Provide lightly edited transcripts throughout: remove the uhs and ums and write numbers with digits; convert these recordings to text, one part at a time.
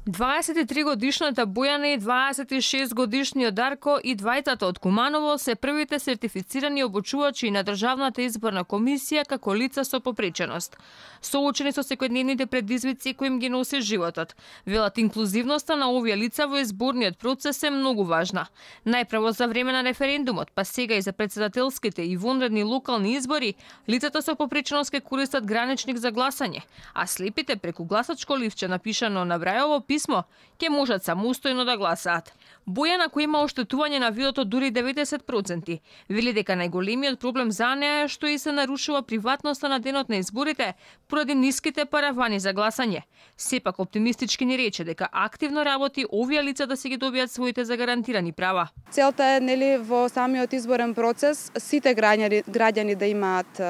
23-годишната Бојана и 26-годишниот Дарко и двајцата од Куманово се првите сертифицирани обучувачи на Државната изборна комисија како лица со попреченост. Соочени со секојдневните предизвици кои им ги носи животот, велат инклузивноста на овие лица во изборниот процес е многу важна. Најпрво за време на референдумот, па сега и за председателските и вонредни локални избори, лицата со попреченост ке користат граничник за гласање, а слепите преку гласачко ливче напишано на Брајово писмо ќе можат самостојно да гласаат. Бојана, која има оштетување на видото дури 90%, вели дека најголемиот проблем за неа е што и се нарушува приватноста на денот на изборите поради ниските паравани за гласање. Сепак оптимистички ни рече дека активно работи овие лица да си ги добијат своите загарантирани права. Целта е во самиот изборен процес сите граѓани да имаат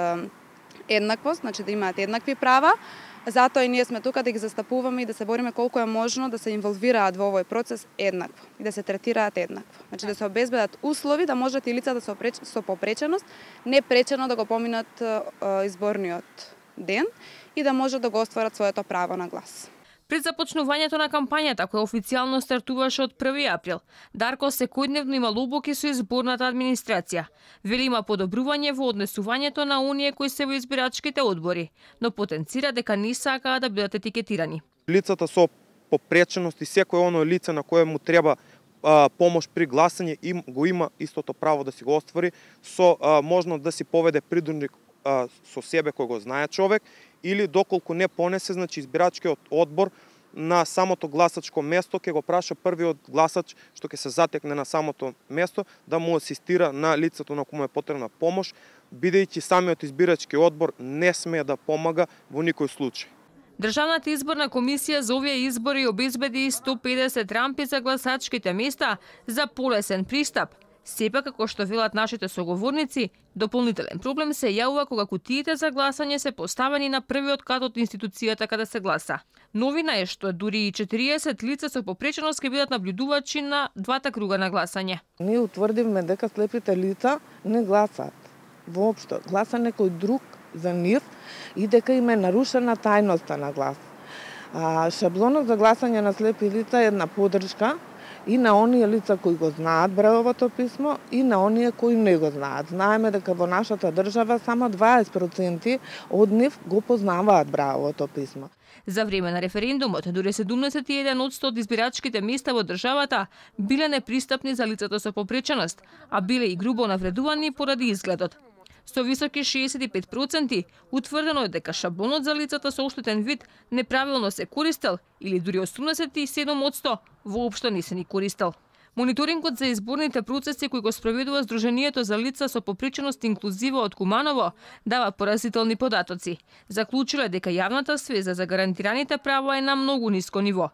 еднаквост, значи да имаат еднакви права. Затоа и ние сме тука да ги застапуваме и да се бориме колку е можно да се инволвираат во овој процес еднакво и да се третираат еднакво. Значи да се обезбедат услови да можат и лицата со попреченост непречено да го поминат изборниот ден и да можат да го остварат своето право на глас. Пред започнувањето на кампањата, која официјално стартуваше од 1 април, Дарко секојдневно има лобоки со изборната администрација. Вели има подобрување во однесувањето на оние кои се во избирачките одбори, но потенцира дека не сакаат да бидат етикетирани. Лицата со попреченост и секој оно лице на кое му треба помош при гласање го има истото право да си го оствари со можност да си поведе придурник со себе кој го знае човек или доколку не понесе, значи избирачкиот одбор на самото гласачко место ќе го праша првиот гласач што ќе се затекне на самото место да му асистира на лицето на кому е потребна помош, бидејќи самиот избирачки одбор не смее да помага во никој случај. Државната изборна комисија за овие избори обезбеди 150 рампи за гласачките места за полесен пристап. Сепак, како што велат нашите соговорници, дополнителен проблем се јавува кога кутиите за гласање се поставени на првиот кат од институцијата каде се гласа. Новина е што дури и 40 лица со попреченост ќе бидат наблюдувачи на двата круга на гласање. Ние утврдивме дека слепите лица не гласаат. Воопшто, гласа некој друг за нив и дека им е нарушена тајноста на глас. Шаблонот за гласање на слепи лица е една поддршка и на оние лица кои го знаат Брајовото писмо и на оние кои не го знаат. Знаеме дека во нашата држава само 20% од нив го познаваат Брајовото писмо. За време на референдумот, дури 71% од избирачките места во државата биле непристапни за лицата со попреченост, а биле и грубо навредувани поради изгледот. Со високи 65% утврдено е дека шаблонот за лицата со оштетен вид неправилно се користел или дури 87% воопшто не се ни користел. Мониторингот за изборните процеси кои го спроведува Сдруженијето за лица со попреченост инклузива од Куманово дава поразителни податоци. Заклучило е дека јавната свест за гарантираните права е на многу ниско ниво.